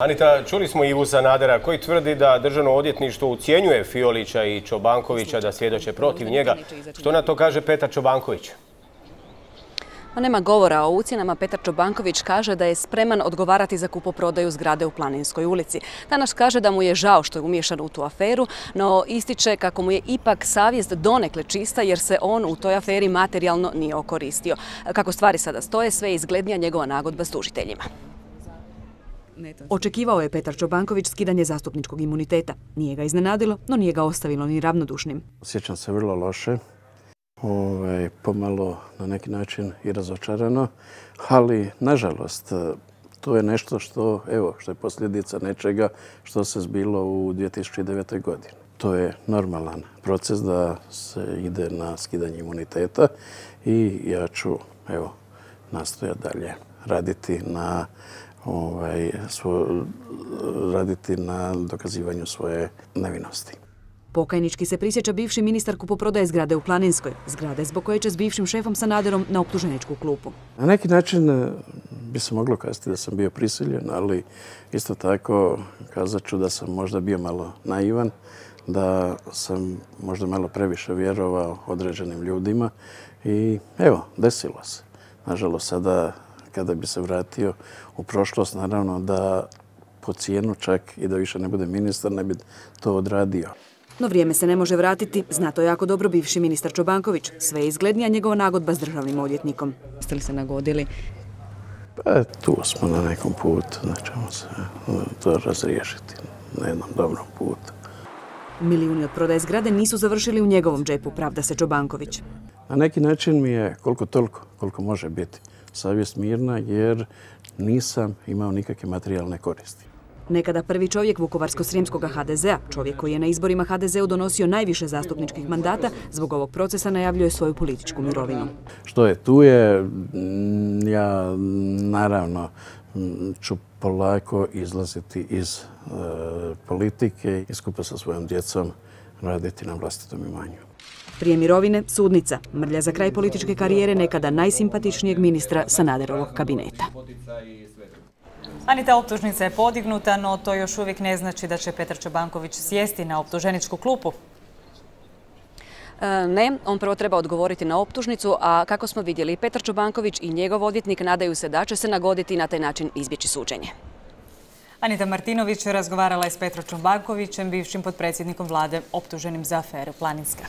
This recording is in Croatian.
Anita, čuli smo Ivu Sanadera koji tvrdi da državno odvjetništvo ucjenjuje Fiolića i Čobankovića da svjedoče protiv njega. Što na to kaže Petar Čobanković? Nema govora o ucjenama. Petar Čobanković kaže da je spreman odgovarati za kupoprodaju zgrade u Planinskoj ulici. Danas kaže da mu je žao što je umiješan u tu aferu, no ističe kako mu je ipak savjest donekle čista jer se on u toj aferi materijalno nije okoristio. Kako stvari sada stoje, sve je izglednija njegova nagodba s tužiteljima. Očekivao je Petar Čobanković skidanje zastupničkog imuniteta. Nije ga iznenadilo, no nije ga ostavilo ni ravnodušnim. Osjećam se vrlo loše. Pomalo na neki način i razočarano, ali nažalost to je nešto što je posljedica nečega što se zbilo u 2009. godini. To je normalan proces da se ide na skidanje imuniteta i ja ću nastojati dalje raditi na dokazivanju svoje nevinosti. Pokajnički se prisjeća bivši ministar kupoprodaje zgrade u Planinskoj. Zgrade zbog koje će s bivšim šefom Sanaderom na optuženičku klupu. Na neki način bi se moglo kazati da sam bio prisiljen, ali isto tako kazat ću da sam možda bio malo naivan, da sam možda malo previše vjerovao određenim ljudima i desilo se. Nažalost, sada kada bi se vratio u prošlost, naravno da po cijenu čak i da više ne bude ministar, ne bi to odradio. No vrijeme se ne može vratiti, zna to jako dobro bivši ministar Čobanković. Sve je izglednija njegova nagodba s državnim odvjetnikom. Jeste li se nagodili? Pa tu smo na nekom putu, da ćemo se to razriješiti na jednom dobrom putu. Milijuni od prodaje zgrade nisu završili u njegovom džepu, pravda se Čobanković. Na neki način mi je koliko može biti savjest mirna jer nisam imao nikakve materijalne koristi. Nekada prvi čovjek Vukovarsko-srijemskog HDZ-a, čovjek koji je na izborima HDZ-u donosio najviše zastupničkih mandata, zbog ovog procesa najavljuje svoju političku mirovinu. Što je tu je, ja naravno ću polako izlaziti iz politike i skupa sa svojom djecom raditi na vlastitom imanju. Prije mirovine, sudnica, mrlja za kraj političke karijere nekada najsimpatičnijeg ministra Sanaderovog kabineta. Anita, optužnica je podignuta, no to još uvijek ne znači da će Petar Čobanković sjesti na optuženičku klupu. Ne, on prvo treba odgovoriti na optužnicu, a kako smo vidjeli, Petar Čobanković i njegov odvjetnik nadaju se da će se nagoditi i na taj način izbjeći suđenje. Anita Martinović razgovarala je s Petrom Čobankovićem, bivšim potpredsjednikom vlade optuženim za aferu Planinska.